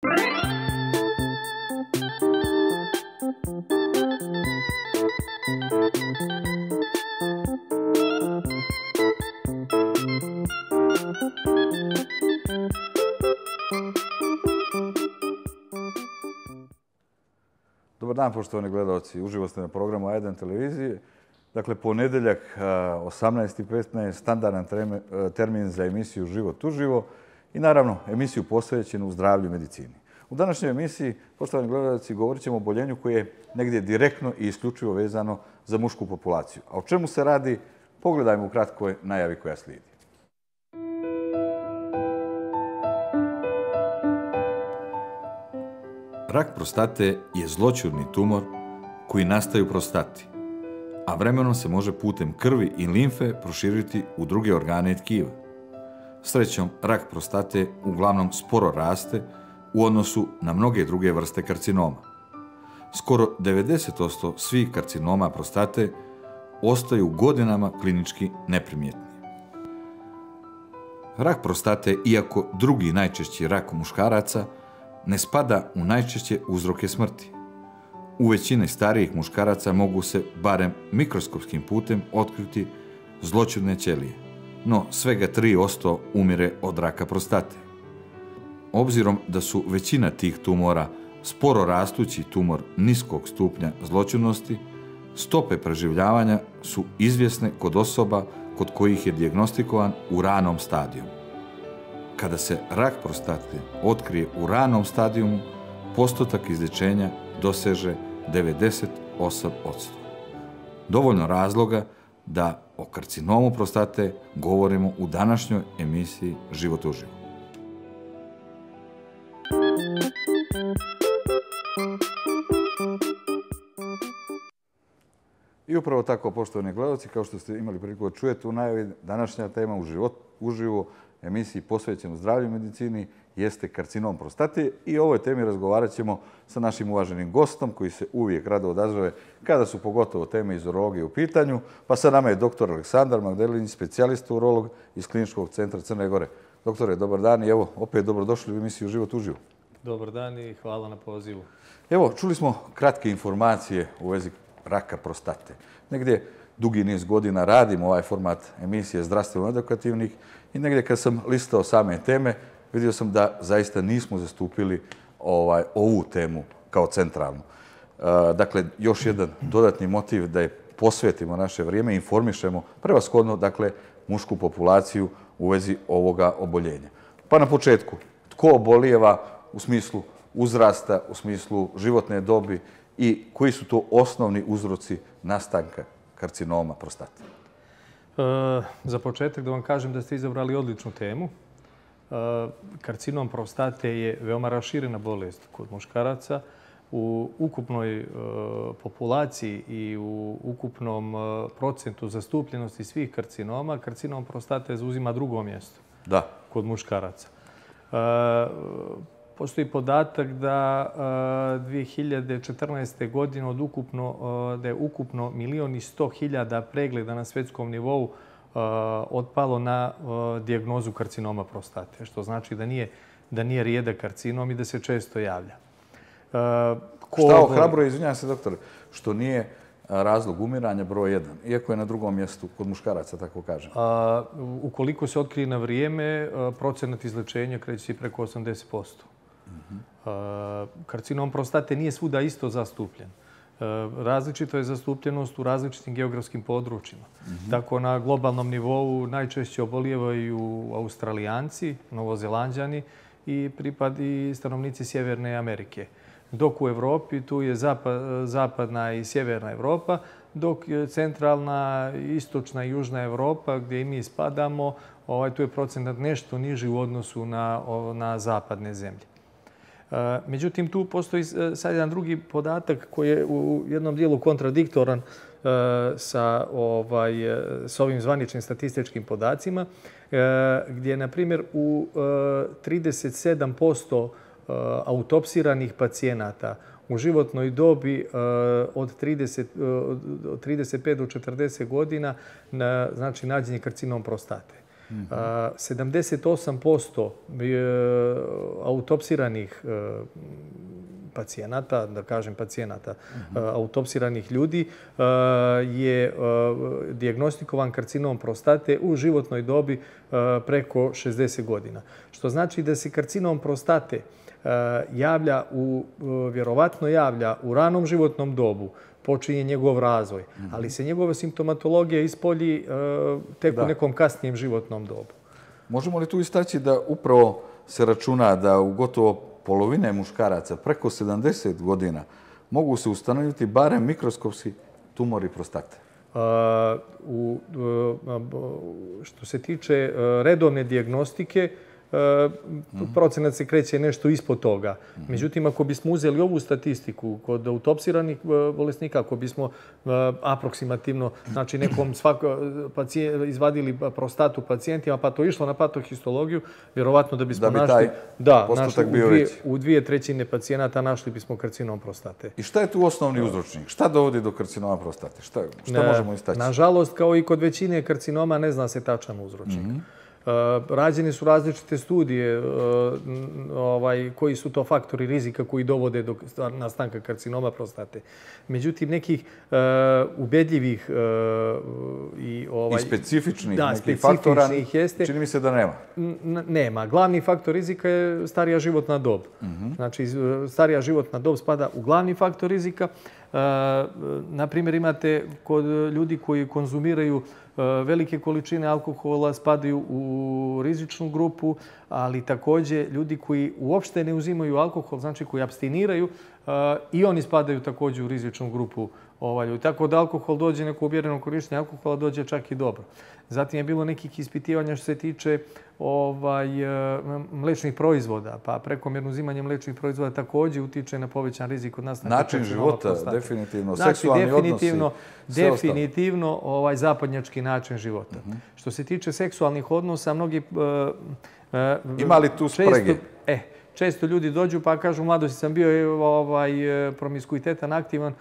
Dobar dan, poštovani gledalci. Uživo ste na programu A1 televizije. Dakle, ponedeljak 18:15, standardan termin za emisiju Život uživo i naravno emisiju posvećenu zdravlju i medicini. U današnjoj emisiji, poštovani gledalci, govorit ćemo o oboljenju koje je negdje direktno i isključivo vezano za mušku populaciju. A o čemu se radi? Pogledajmo u kratkoj najavi koja slijedi. Rak prostate je zloćudni tumor koji nastaje u prostati, a vremenom se može putem krvi i limfe proširiti u druge organe i tkiva. Srećom, rak prostate uglavnom sporo raste u odnosu na mnoge druge vrste karcinoma. Skoro 90% svih karcinoma prostate ostaju godinama klinički neprimjetni. Rak prostate, iako drugi najčešći rak muškaraca, ne spada u najčešće uzroke smrti. U većini starijih muškaraca mogu se, barem mikroskopskim putem, otkriti zloćudne ćelije, no svega 3% umire od raka prostate. Obzirom da su većina tih tumora sporo rastući tumor niskog stupnja zloćudnosti, stope preživljavanja su izvjesne kod osoba kod kojih je dijagnostikovan u ranom stadiju. Kada se rak prostate otkrije u ranom stadijumu, postotak izlječenja doseže 98%. Dovoljno razloga da o karcinomu prostate govorimo u današnjoj emisiji Život uživo. I upravo tako, poštovani gledalci, kao što ste imali priliku da čujete u najavi, današnja tema u Život uživo emisiji posvećenu zdravlju i medicini jeste karcinom prostate i o ovoj temi razgovarat ćemo sa našim uvaženim gostom koji se uvijek rado odazove kada su pogotovo teme iz urologije u pitanju. Pa sa nama je dr. Aleksandar Magdelinić, specijalista urolog iz Kliničkog centra Crne Gore. Doktore, dobar dan i evo, opet dobrodošli u emisiju Život uživo. Dobar dan i hvala na pozivu. Evo, čuli smo kratke informacije u vezi raka prostate. Negdje dugi niz godina radimo ovaj format emisije zdravstveno edukativnih i negdje kad sam listao same teme, vidio sam da zaista nismo zastupili ovu temu kao centralnu. Dakle, još jedan dodatni motiv da je posvetimo naše vrijeme i informišemo prevashodno, dakle, mušku populaciju u vezi ovoga oboljenja. Pa na početku, tko obolijeva u smislu uzrasta, u smislu životne dobi i koji su to osnovni uzroci nastanka karcinoma prostate? Za početak da vam kažem da ste izabrali odličnu temu. Karcinom prostate je veoma raširena bolest kod muškaraca. U ukupnoj populaciji i u ukupnom procentu zastupljenosti svih karcinoma, karcinom prostate zauzima drugo mjesto kod muškaraca. Postoji podatak da 2014. godine da je ukupno 1.100.000 pregleda na svjetskom nivou otpalo na dijagnozu karcinoma prostate, što znači da nije rijedak karcinom i da se često javlja. Šta ohrabruje, izvinjavam se doktore, što nije razlog umiranja broj 1, iako je na drugom mjestu kod muškaraca, tako kažem? Ukoliko se otkrije na vrijeme, procenat izlečenja kreće se preko 80%. Karcinom prostate nije svuda isto zastupljen. Različito je zastupljenost u različitim geografskim područjima. Tako na globalnom nivou najčešće obolijevaju Australijanci, Novozelanđani i stanovnici Sjeverne Amerike. Dok u Evropi tu je zapadna i sjeverna Evropa, dok centralna, istočna i južna Evropa, gdje i mi spadamo, tu je procenat nešto niži u odnosu na zapadne zemlje. Međutim, tu postoji sad jedan drugi podatak koji je u jednom dijelu kontradiktoran sa ovim zvaničnim statističkim podacima, gdje, na primjer, u 37% autopsiranih pacijenata u životnoj dobi od 35 do 40 godina, znači nađen je karcinom prostate. 78% autopsiranih pacijenata, da kažem pacijenata, autopsiranih ljudi je dijagnostikovan karcinom prostate u životnoj dobi preko 60 godina. Što znači da se karcinom prostate vjerovatno javlja u ranom životnom dobu, počinje njegov razvoj, ali se njegova simptomatologija ispolji tek u nekom kasnijem životnom dobu. Možemo li tu istaći da upravo se računa da u gotovo polovine muškaraca preko 70 godina mogu se ustanoviti barem mikroskopski tumori prostate? Što se tiče redovne dijagnostike, procenat se kreće nešto ispod toga. Međutim, ako bismo uzeli ovu statistiku kod autopsiranih bolesnika, ako bismo aproksimativno, znači nekom izvadili prostatu pacijentima, pa to išlo na patohistologiju, vjerovatno da bismo našli... postotak bio veći. U 2/3 pacijenata našli bismo karcinom prostate. I šta je tu osnovni uzročnik? Šta dovodi do karcinoma prostate? Šta možemo istaći? Nažalost, kao i kod većine karcinoma, ne zna se tačan uzročnik. Rađene su različite studije koji su to faktori rizika koji dovode do nastanka karcinoma prostate. Međutim, nekih ubedljivih i specifičnih nekih faktora čini mi se da nema. Nema. Glavni faktor rizika je starija životna dob. Znači, starija životna dob spada u glavni faktor rizika. Naprimjer, imate kod ljudi koji konzumiraju velike količine alkohola, spadaju u rizičnu grupu, ali također ljudi koji uopšte ne uzimaju alkohol, znači koji apstiniraju, i oni spadaju također u rizičnu grupu. Tako da alkohol dođe, neko umjereno korištenje alkohola dođe čak i dobro. Zatim je bilo nekih ispitivanja što se tiče mlečnih proizvoda, pa prekomjerno uzimanje mlečnih proizvoda također utiče na povećan rizik od nastanka karcinoma prostate. Način života, definitivno, seksualni odnosi. Definitivno zapadnjački način života. Što se tiče seksualnih odnosa, mnogi... Ima li tu sprege? Često ljudi dođu pa kažu, u mladosti sam bio promiskuitetan, aktivan,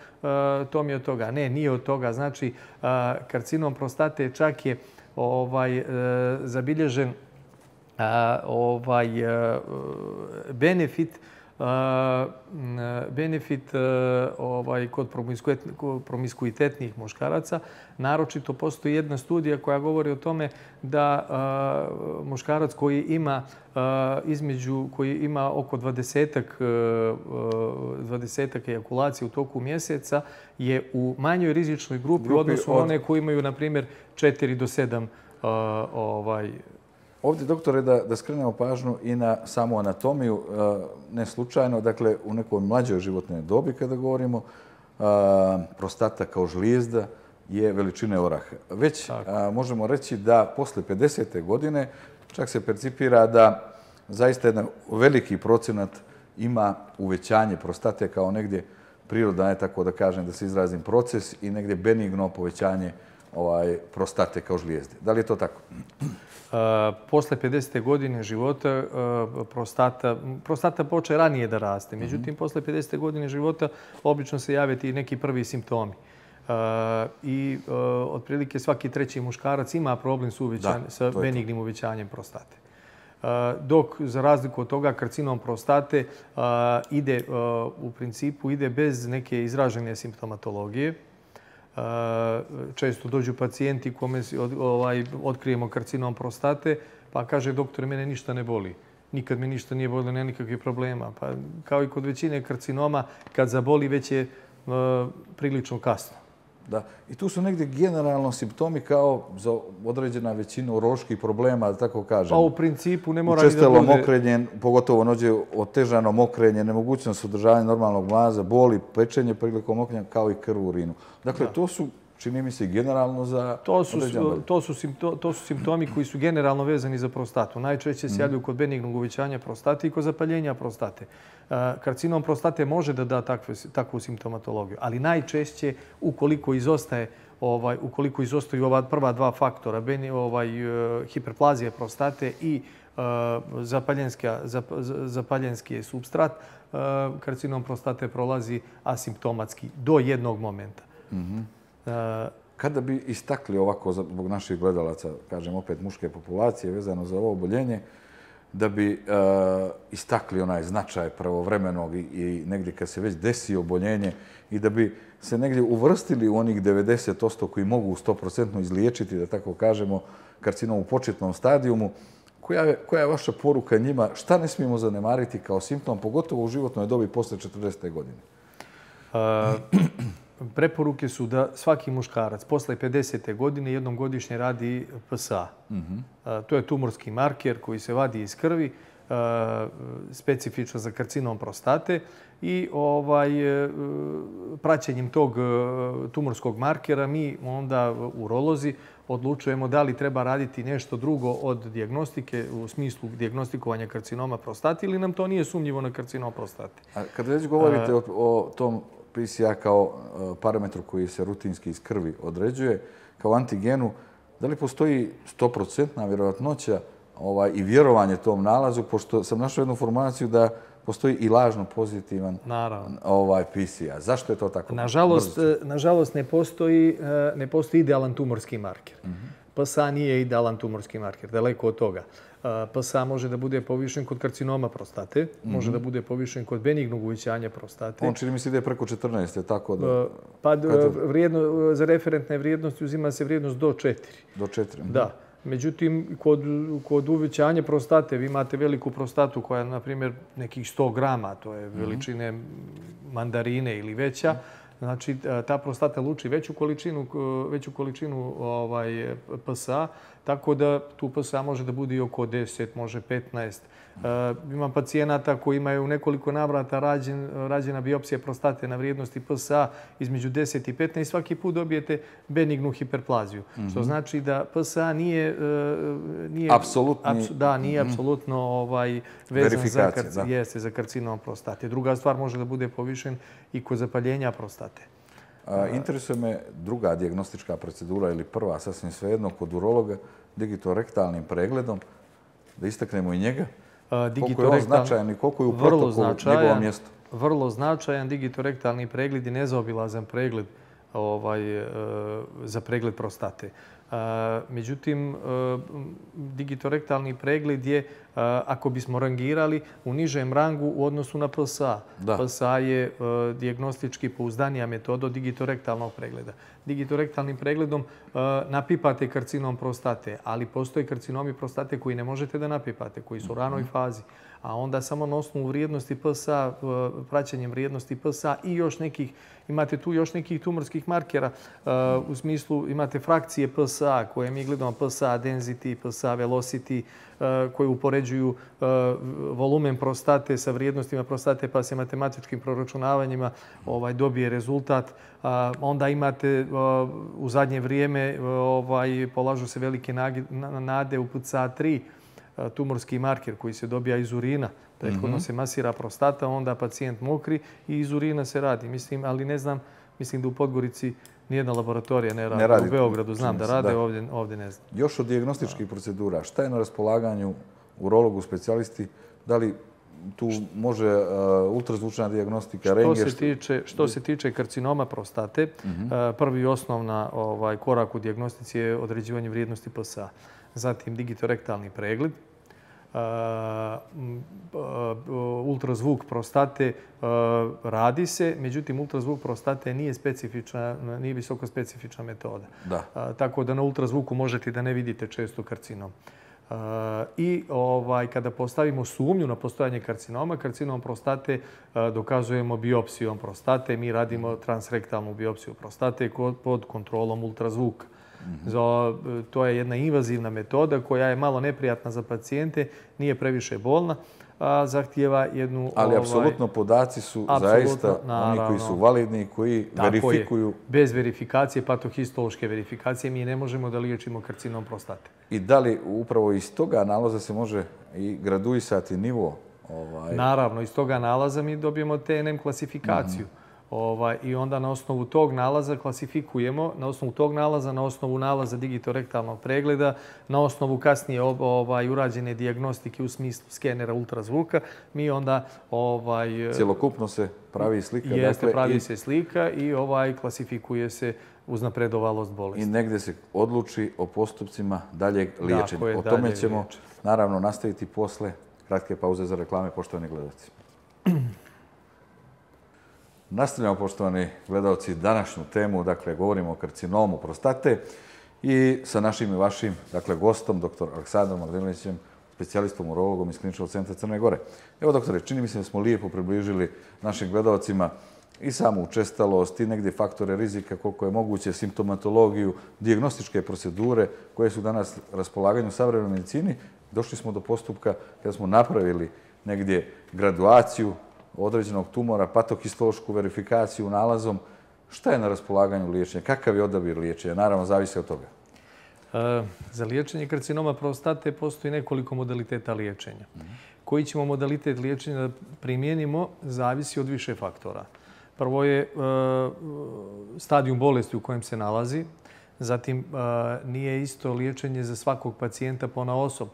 to mi je od toga. Ne, nije od toga. Znači, karcinom prostate čak je zabilježen benefit kod promiskuitetnih muškaraca. Naročito postoji jedna studija koja govori o tome da muškarac koji ima oko 20-ak ejakulacija u toku mjeseca je u manjoj rizičnoj grupi u odnosu na one koji imaju, na primjer, 4 do 7 Ovdje, doktore, da skrenemo pažnju i na samu anatomiju, ne slučajno, dakle, u nekoj mlađoj životnoj dobi kada govorimo, prostata kao žlijezda je veličine oraha. Već možemo reći da posle 50. godine čak se percipira da zaista jedan veliki procenat ima uvećanje prostate kao negdje priroda, ne tako da kažem, da se izrazim proces, i negdje benigno povećanje prostate kao žlijezde. Da li je to tako? Posle 50. godine života prostata poče ranije da raste. Međutim, posle 50. godine života obično se jave ti neki prvi simptomi. I otprilike svaki treći muškarac ima problem sa benignim uvećanjem prostate. Dok, za razliku od toga, karcinom prostate u principu ide bez neke izražene simptomatologije. Često dođu pacijenti kome otkrijemo karcinom prostate, pa kaže, doktore, mene ništa ne boli. Nikad me ništa nije bolilo, nema nikakvih problema. Pa kao i kod većine karcinoma, kad zaboli, već je prilično kasno. Da. I tu su negdje generalno simptomi kao za određena većina uroloških problema, da tako kažem. Pa u principu ne mora ni da bude... Učestalo mokrenje, pogotovo nođe otežano mokrenje, nemogućnost održavanja normalnog mlaza, boli, pečenje prilikom mokrenja, kao i krv u urinu. Dakle, to su, čini mi se, generalno za... To su simptomi koji su generalno vezani za prostatu. Najčešće se javljaju kod benignog uvećanja prostate i kod zapaljenja prostate. Karcinom prostate može da da takvu simptomatologiju, ali najčešće ukoliko izostaju ova prva dva faktora, hiperplazija prostate i zapaljenski supstrat, karcinom prostate prolazi asimptomatski do jednog momenta. Kada bi istakli ovako, zbog naših gledalaca, kažem opet muške populacije vezano za ovo oboljenje, da bi istakli onaj značaj pravovremenog i negdje kad se već desi oboljenje i da bi se negdje uvrstili u onih 90% koji mogu 100% izliječiti, da tako kažemo, karcinom u početnom stadijumu, koja je vaša poruka njima? Šta ne smijemo zanemariti kao simptom, pogotovo u životnoj dobi posle 40. godine? Preporuke su da svaki muškarac posle 50. godine jednom godišnje radi PSA. To je tumorski marker koji se vadi iz krvi, specifično za karcinom prostate i praćenjem tog tumorskog markera mi onda urolozi odlučujemo da li treba raditi nešto drugo od dijagnostike u smislu dijagnostikovanja karcinoma prostate ili nam to nije sumnjivo na karcinom prostate. A kad već govorite o tom PSA kao parametru koji se rutinski iz krvi određuje, kao antigenu, da li postoji 100% vjerojatnoća i vjerovanje tom nalazu, pošto sam našao jednu informaciju da postoji i lažno pozitivan PSA. Zašto je to tako? Nažalost, ne postoji idealan tumorski marker. PSA nije idealan tumorski marker, daleko od toga. PSA može da bude povišen kod karcinoma prostate, može da bude povišen kod benignog uvećanja prostate. On čini mi se ide preko 14, tako da... Pa za referentne vrijednosti uzima se vrijednost do 4. Do 4. Da. Međutim, kod uvećanja prostate vi imate veliku prostatu koja je, na primjer, nekih 100 grama, to je veličine mandarine ili veća. Znači, ta prostata luči veću količinu PSA, tako da tu PSA može da bude i oko 10, može 15. Imam pacijenata koji imaju u nekoliko navrata rađena biopsija prostate na vrijednosti PSA između 10 i 15 i svaki put dobijete benignu hiperplaziju. Što znači da PSA nije apsolutno vezan za karcinom prostate. Druga stvar može da bude povišen i kod zapaljenja prostate. Interesuje me druga dijagnostička procedura ili prva, sasvim svejedno, kod urologa, digitorektalnim pregledom. Da istaknemo i njega. Koliko je on značajan i koliko je u protokolu njegovo mjesto? Vrlo značajan. Digitorektalni pregled je nezaobilazan pregled za pregled prostate. Međutim, digitorektalni pregled je, ako bismo rangirali, u nižem rangu u odnosu na PSA. PSA je dijagnostički pouzdanija metoda od digitorektalnog pregleda. Digitorektalnim pregledom napipate karcinom prostate, ali postoje karcinomi prostate koji ne možete da napipate, koji su u ranoj fazi. A onda samo na osnovu vrijednosti PSA, praćenjem vrijednosti PSA i imate tu još nekih tumorskih markera. U smislu imate frakcije PSA koje mi gledamo, PSA density, PSA velocity, koje upoređuju volumen prostate sa vrijednostima prostate pa se matematičkim proračunavanjima dobije rezultat. Onda imate u zadnje vrijeme polažu se velike nade u PSA3, tumorski marker koji se dobija iz urina. Prethodno se masira prostata, onda pacijent mokri i iz urina se radi. Ali ne znam, mislim da u Podgorici nijedna laboratorija ne radi. U Beogradu znam da rade, ovdje ne znam. Još od dijagnostičkih procedura, šta je na raspolaganju urologu, specijalisti? Da li tu može ultrazvučna dijagnostika, rentgen? Što se tiče karcinoma prostate, prvi i osnovna korak u dijagnostici je određivanje vrijednosti PSA. Zatim digitorektalni pregled, ultrazvuk prostate radi se, međutim ultrazvuk prostate nije visoko specifična metoda. Tako da na ultrazvuku možete da ne vidite često karcinom. I kada postavimo sumnju na postojanje karcinoma, karcinom prostate dokazujemo biopsijom prostate. Mi radimo transrektalnu biopsiju prostate pod kontrolom ultrazvuka. To je jedna invazivna metoda koja je malo neprijatna za pacijente, nije previše bolna, a zahtijeva jednu... Ali apsolutno podaci su zaista oni koji su validni, koji verifikuju... Bez verifikacije, patohistološke verifikacije, mi ne možemo da liječimo karcinom prostate. I da li upravo iz toga nalaza se može i graduisati nivo? Naravno, iz toga nalaza mi dobijemo TNM klasifikaciju. I onda na osnovu tog nalaza klasifikujemo, na osnovu nalaza digitorektalnog pregleda, na osnovu kasnije urađene dijagnostike u smislu skenera ultrazvuka, mi onda... Cjelokupno se pravi slika. Pravi se slika i klasifikuje se uznapredovalost bolesti. I negdje se odluči o postupcima daljeg liječenja. O tome ćemo naravno nastaviti posle kratke pauze za reklame, poštovani gledalci. Nastavljamo, poštovani gledalci, današnju temu, dakle, govorimo o karcinomu prostate i sa našim i vašim, dakle, gostom, dr. Aleksandrom Mladenovićem, specijalistom urologom iz Kliničkog centra Crne Gore. Evo, doktore, čini mi se da smo lijepo približili našim gledalcima i samu učestalost i negdje faktore rizika, koliko je moguće, simptomatologiju, dijagnostičke procedure koje su danas na raspolaganju u savremenoj medicini. Došli smo do postupka kada smo napravili negdje graduaciju određenog tumora, patohistološku verifikaciju nalazom. Šta je na raspolaganju liječenja? Kakav je odabir liječenja? Naravno, zavisi od toga. Za liječenje karcinoma prostate postoji nekoliko modaliteta liječenja. Koji ćemo modalitet liječenja da primijenimo zavisi od više faktora. Prvo je stadijum bolesti u kojem se nalazi. Zatim, nije isto liječenje za svakog pacijenta ponaosob.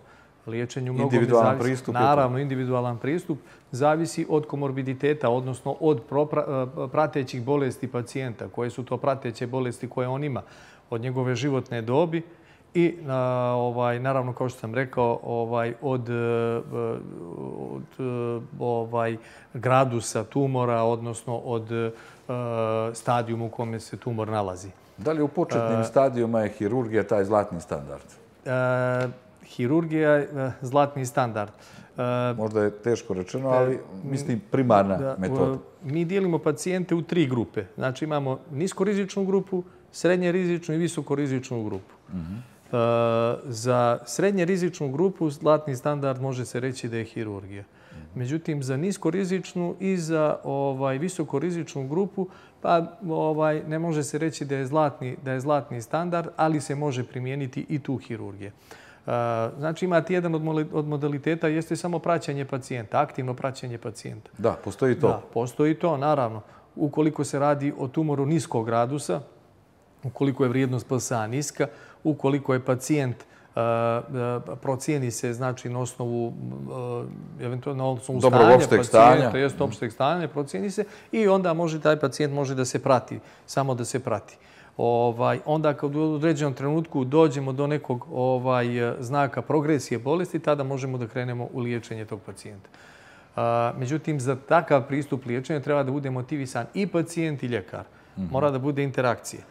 Individualan pristup. Naravno, individualan pristup zavisi od komorbiditeta, odnosno od pratećih bolesti pacijenta. Koje su to prateće bolesti koje on ima? Od njegove životne dobi i, naravno, kao što sam rekao, od gradusa tumora, odnosno od stadijuma u kome se tumor nalazi. Da li u početnim stadijuma je hirurgija taj zlatni standard? Hirurgija je zlatni standard. Možda je teško rečeno, ali mislim primarna metoda. Mi dijelimo pacijente u 3 grupe. Znači imamo niskorizičnu grupu, srednje rizičnu i visokorizičnu grupu. Za srednje rizičnu grupu zlatni standard može se reći da je hirurgija. Međutim, za niskorizičnu i za visokorizičnu grupu pa ne može se reći da je zlatni standard, ali se može primijeniti i tu hirurgija. Znači imate jedan od modaliteta jeste samo praćenje pacijenta, aktivno praćenje pacijenta. Da, postoji to. Da, postoji to, naravno. Ukoliko se radi o tumoru niskog gradusa, ukoliko je vrijednost PSA niska, ukoliko je pacijent procijeni se, znači na osnovu dobrog opšteg stanja, jest opšteg stanja, procijeni se i onda taj pacijent može da se prati, samo da se prati. Onda kad u određenom trenutku dođemo do nekog znaka progresije bolesti, tada možemo da krenemo u liječenje tog pacijenta. Međutim, za takav pristup liječenja treba da bude motivisan i pacijent i ljekar. Mora da bude interakcija.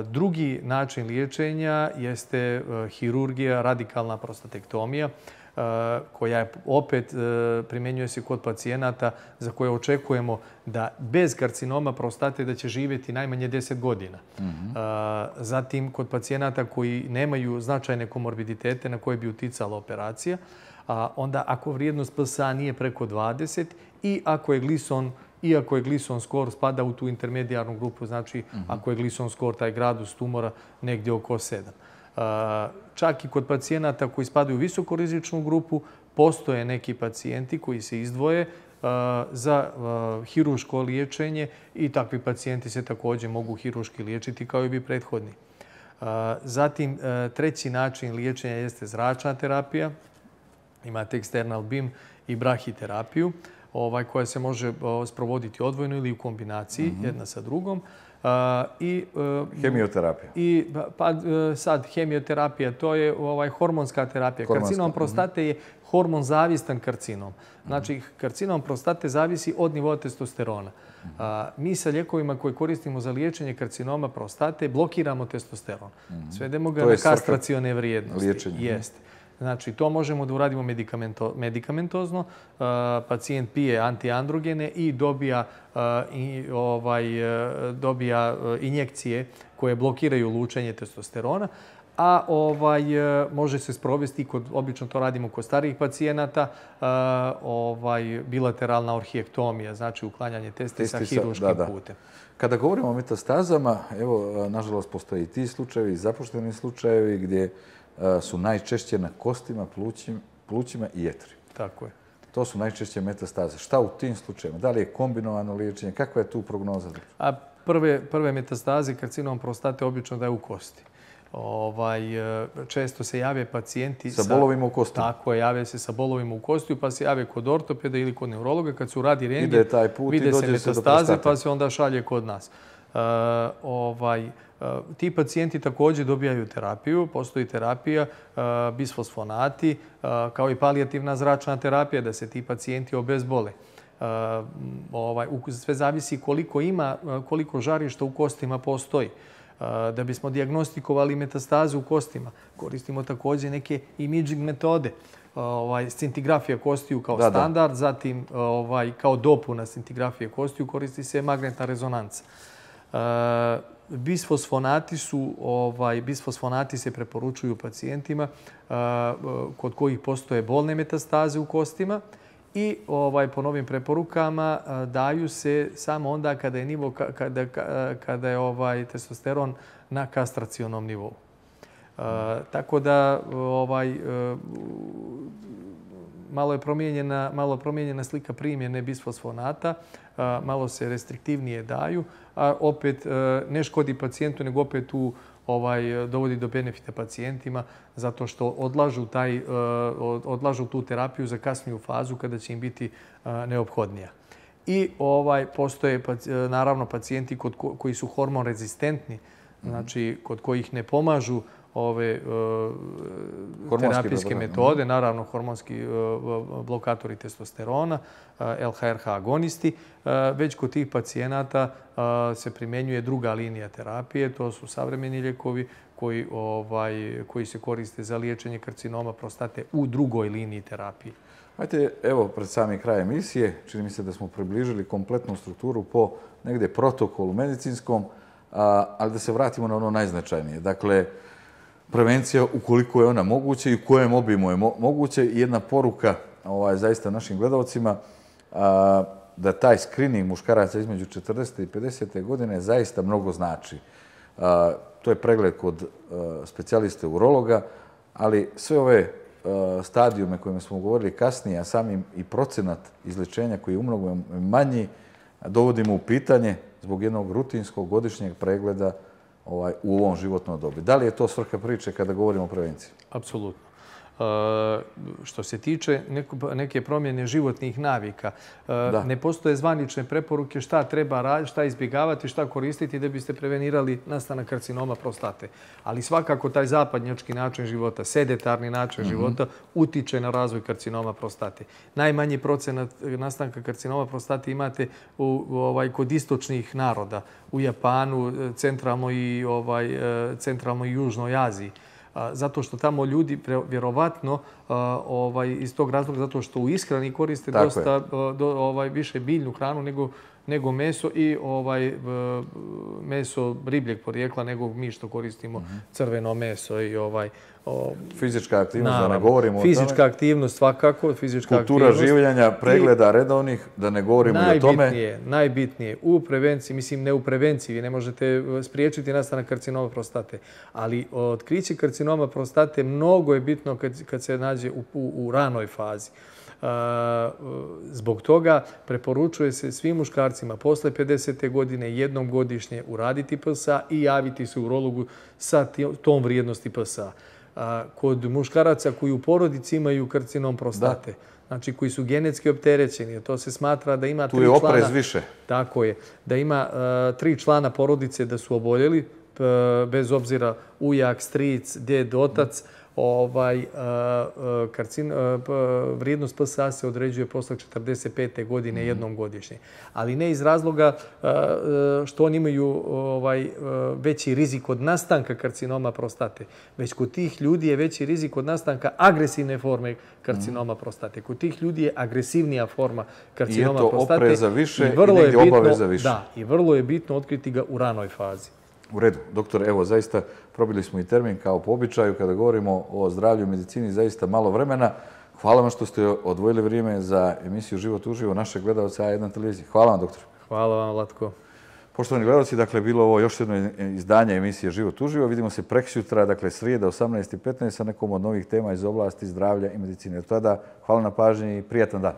Drugi način liječenja jeste hirurgija, radikalna prostatektomija, koja opet primjenjuje se kod pacijenata za koje očekujemo da bez karcinoma prostate da će živjeti najmanje 10 godina. Zatim, kod pacijenata koji nemaju značajne komorbiditete na koje bi uticala operacija, onda ako vrijednost PSA nije preko 20 i ako je glison skor spada u tu intermedijarnu grupu, znači ako je glison skor, taj gradus tumora, negdje oko 7. Čak i kod pacijenata koji spadaju u visokorizičnu grupu, postoje neki pacijenti koji se izdvoje za hirurško liječenje i takvi pacijenti se također mogu hirurški liječiti kao i bi prethodni. Zatim, treći način liječenja jeste zračna terapija. Imate external beam i brahiterapiju, koja se može sprovoditi odvojno ili u kombinaciji jedna sa drugom. Hemioterapija. Sad, hemioterapija, to je hormonska terapija. Karcinom prostate je hormonzavistan karcinom. Znači, karcinom prostate zavisi od nivoa testosterona. Mi sa lijekovima koje koristimo za liječenje karcinoma prostate blokiramo testosteron. Svedemo ga na kastracione vrijednosti. Jeste. Znači, to možemo da uradimo medikamentozno. Pacijent pije antiandrogene i dobija injekcije koje blokiraju lučenje testosterona. A može se sprovesti, obično to radimo kod starijih pacijenata, bilateralna orhijektomija, znači uklanjanje testisa hirurškim putem. Kada govorimo o metastazama, evo, nažalost, postoje i ti slučajevi, i zapušteni slučajevi gdje su najčešće na kostima, plućima i jetri. Tako je. To su najčešće metastaze. Šta u tim slučajevima? Da li je kombinovano liječenje? Kakva je tu prognoza? Prve metastaze karcinom prostate obično da je u kosti. Često se jave pacijenti sa bolovima u kostima. Tako je, jave se sa bolovima u kostiju, pa se jave kod ortopeda ili kod neurologa. Kad se uradi rentgen, vide se metastaze, pa se onda šalje kod nas. Ti pacijenti također dobijaju terapiju. Postoji terapija, bisfosfonati, kao i palijativna zračna terapija, da se ti pacijenti obezbole. Sve zavisi koliko žarišta u kostima postoji. Da bismo dijagnostikovali metastaze u kostima, koristimo također neke imaging metode. Scintigrafija kostiju kao standard, zatim kao scintigrafije kostiju koristi se magnetna rezonanca. Bisfosfonati se preporučuju pacijentima kod kojih postoje bolne metastaze u kostima i po novim preporukama daju se samo onda kada je testosteron na kastracionom nivou. Tako da malo je promijenjena slika primjene bisfosfonata, malo se restriktivnije daju, a opet ne škodi pacijentu, nego opet dovodi do benefita pacijentima zato što odlažu tu terapiju za kasniju fazu kada će im biti neophodnija. I postoje naravno pacijenti koji su hormon rezistentni, znači kod kojih ne pomažu ove terapijske metode, naravno hormonski blokatori testosterona, LHRH agonisti, već kod tih pacijenata se primjenjuje druga linija terapije. To su savremeni lijekovi koji se koriste za liječenje karcinoma prostate u drugoj liniji terapije. Ajde, evo, pred sami kraj emisije, čini mi se da smo približili kompletnu strukturu po negdje protokolu medicinskom, ali da se vratimo na ono najznačajnije. Dakle, prevencija ukoliko je ona moguća i u kojem obimu je moguće. I jedna poruka zaista našim gledalcima da taj screening muškaraca između 40. i 50. godine zaista mnogo znači. To je pregled kod specijaliste urologa, ali sve ove stadijume kojima smo govorili kasnije, a samim i procenat izlječenja koji je umnogo manji, dovodimo u pitanje zbog jednog rutinskog godišnjeg pregleda u ovom životnom dobi. Da li je to svrha priče kada govorimo o prevenciji? Apsolutno. Što se tiče neke promjene životnih navika, ne postoje zvanične preporuke šta treba raditi, šta izbjegavati, šta koristiti da biste prevenirali nastanak karcinoma prostate. Ali svakako taj zapadnjački način života, sedetarni način života utiče na razvoj karcinoma prostate. Najmanji procenat nastanka karcinoma prostate imate kod istočnih naroda, u Japanu, centralnoj i južnoj Aziji. Zato što tamo ljudi vjerovatno iz tog razloga, zato što u ishrani koriste dosta više biljnu hranu nego meso i meso ribljeg porijekla nego mi što koristimo crveno meso i fizička aktivnost, da ne govorimo o tome. Fizička aktivnost svakako. Kultura življenja, pregleda redovnih, da ne govorimo i o tome. Najbitnije u prevenciji, mislim ne u prevenciji, vi ne možete spriječiti nastanak karcinoma prostate, ali otkriće karcinoma prostate mnogo je bitno kad se nađe u ranoj fazi. Zbog toga preporučuje se svim muškarcima posle 50. godine jednom godišnje uraditi PSA i javiti se urologu sa tom vrijednosti PSA. Kod muškaraca koji u porodici imaju karcinom prostate, znači koji su genetski opterećeni, to se smatra da ima 3 člana... Tu je oprez više. Tako je. Da ima 3 člana porodice da su oboljeli, bez obzira ujak, stric, djed, otac, vrijednost PSA se određuje posle 45. godine jednom godišnje. Ali ne iz razloga što oni imaju veći rizik od nastanka karcinoma prostate, već kod tih ljudi je veći rizik od nastanka agresivne forme karcinoma prostate. Kod tih ljudi je agresivnija forma karcinoma prostate. I je to opreza više i negdje obaveza više. Da, i vrlo je bitno otkriti ga u ranoj fazi. U redu. Doktore, evo, zaista probili smo i termin kao po običaju. Kada govorimo o zdravlju i medicini, zaista malo vremena. Hvala vam što ste odvojili vrijeme za emisiju Život uživo našeg gledalca A1 televizije. Hvala vam, doktore. Hvala vam, Vlatko. Poštovani gledalci, dakle, bilo ovo još jedno izdanje emisije Život uživo. Vidimo se preksjutra, dakle, srijeda 18:15 sa nekom od novih tema iz oblasti zdravlja i medicine. Od tada, hvala na pažnji i prijatan dan.